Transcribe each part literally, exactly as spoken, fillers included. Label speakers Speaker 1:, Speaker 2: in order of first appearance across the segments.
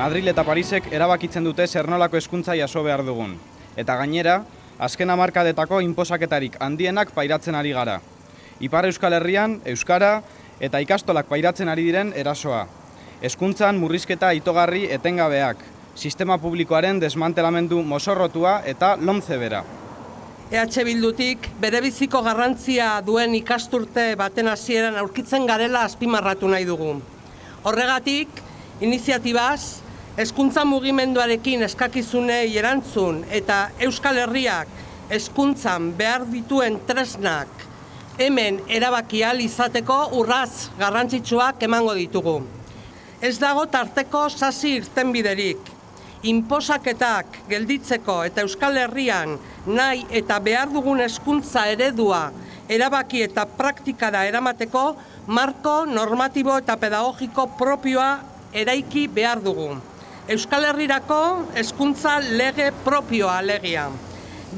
Speaker 1: Madril eta Parisek erabakitzen dute zer nolako hezkuntza jaso behar dugun. Eta gainera, azken hamarkadetako inposaketarik handienak pairatzen ari gara. Ipar Euskal Herrian, euskara eta ikastolak pairatzen ari diren erasoa. Hezkuntzan murrizketa itogarri etengabeak, sistema publikoaren desmantelamendu mozorrotua eta lomce bera.
Speaker 2: E H Bildutik berebiziko garrantzia duen ikasturte baten hasieran aurkitzen garela azpimarratu nahi dugu. Horregatik, iniziatibaz, hezkuntza mugimenduarekin eskakizunei erantzun eta Euskal Herriak hezkuntzan behar dituen tresnak hemen erabaki ahal izateko urrats garrantzitsuak emango ditugu. Ez dago tarteko sasi irtenbiderik. Inposaketak gelditzeko eta Euskal Herrian nahi eta behar dugun hezkuntza eredua erabaki eta praktikara eramateko marko normatibo eta pedagogiko propioa eraiki behar dugu. Euskal Herrirako hezkuntza lege propioa alegia.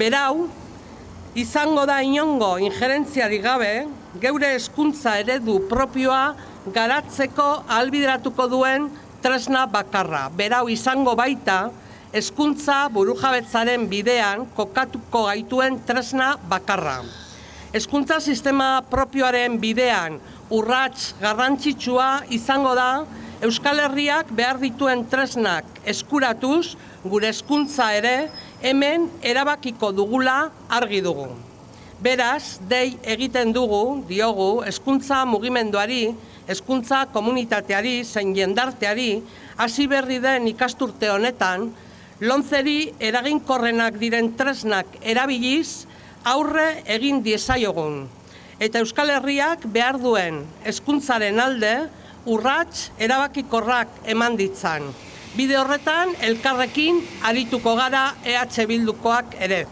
Speaker 2: Berau, izango da inongo injerentziarik gabe, geure hezkuntza eredu propioa garatzeko ahalbideratuko duen tresna bakarra. Berau izango baita, hezkuntza burujabetzaren bidean kokatuko gaituen tresna bakarra. Hezkuntza sistema propioaren bidean urrats garrantzitsua izango da Euskal Herriak behar dituen tresnak eskuratuz, gure hezkuntza ere hemen erabakiko dugula argi dugu. Beraz, dei egiten dugu, diogu, hezkuntza mugimenduari, hezkuntza komunitateari, zein jendarteari, hasi berri den ikasturte honetan, lomceri eraginkorrenak diren tresnak erabiliz, aurre egin diezaiogun. Eta Euskal Herriak behar duen hezkuntzaren alde, urrats erabakikorrak eman ditzan. Bide horretan, elkarrekin arituko gara E H Bildukoak ere.